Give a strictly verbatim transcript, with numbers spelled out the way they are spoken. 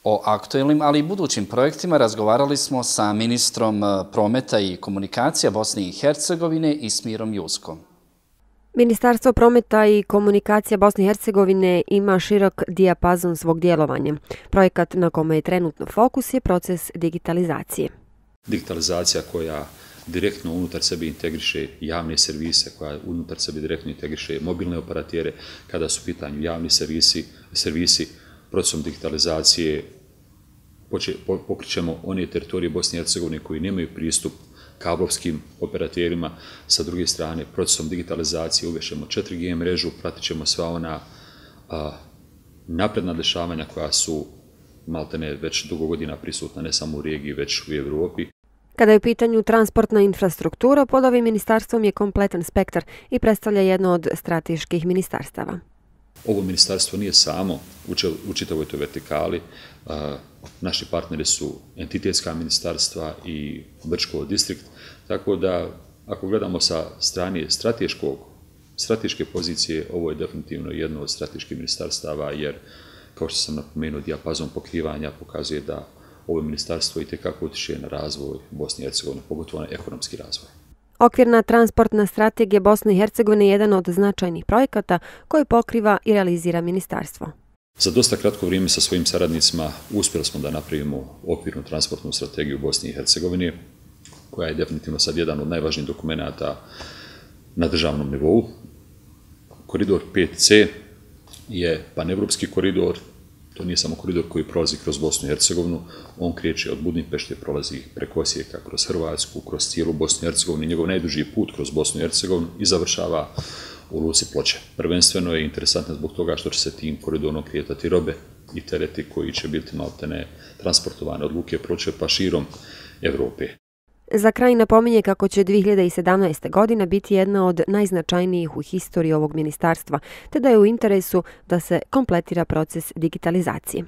O aktuelnim, ali i budućim projektima razgovarali smo sa ministrom prometa i komunikacija Bosne i Hercegovine Ismirom Juskom. Ministarstvo prometa i komunikacija Bosne i Hercegovine ima širok dijapazon svog djelovanja. Projekat na kome je trenutno fokus je proces digitalizacije. Digitalizacija koja direktno unutar sebe integriše javne servise, koja unutar sebe direktno integriše mobilne operatere, kada su u pitanju javni servisi, servisi procesom digitalizacije pokrićemo one teritorije Bosne i Hercegovine koji nemaju pristup kablovskim operaterima. Sa druge strane, procesom digitalizacije uvešemo četiri G mrežu, pratit ćemo sva ona a, napredna dešavanja koja su maltene već dugo godina prisutna ne samo u regiji, već u Evropi. Kada je u pitanju transportna infrastruktura, pod ovim ministarstvom je kompletan spektar i predstavlja jedno od strateških ministarstava. Ovo ministarstvo nije samo u čitavoj toj vertikali. Naši partneri su entitetska ministarstva i Brčko distrikt, tako da ako gledamo sa strane strateškog, strateške pozicije, ovo je definitivno jedno od strateških ministarstava, jer, kao što sam napomenuo, dijapazon pokrivanja pokazuje da ovo ministarstvo itekako utiče na razvoj Bosne i Hercegovine, pogotovo na ekonomski razvoj. Okvirna transportna strategija Bosne i Hercegovine je jedan od značajnih projekata koji pokriva i realizira ministarstvo. Za dosta kratko vrijeme sa svojim saradnicima uspjeli smo da napravimo okvirnu transportnu strategiju Bosne i Hercegovine, koja je definitivno sad jedan od najvažnijih dokumenata na državnom nivou. Koridor pet C je panevropski koridor. To nije samo koridor koji prolazi kroz Bosnu i Hercegovinu, on kreće od Budimpešte, prolazi preko Osijeka, kroz Hrvatsku, kroz cijelu Bosnu i Hercegovinu, njegov najduži put kroz Bosnu i Hercegovinu i završava u luci Ploče. Prvenstveno je interesantno zbog toga što će se tim koridorom kretati robe i tereti koji će biti maltene transportovane od luke Ploče pa širom Evrope. Za kraj napominje kako će dvije hiljade sedamnaeste. godina biti jedna od najznačajnijih u historiji ovog ministarstva, te da je u interesu da se kompletira proces digitalizacije.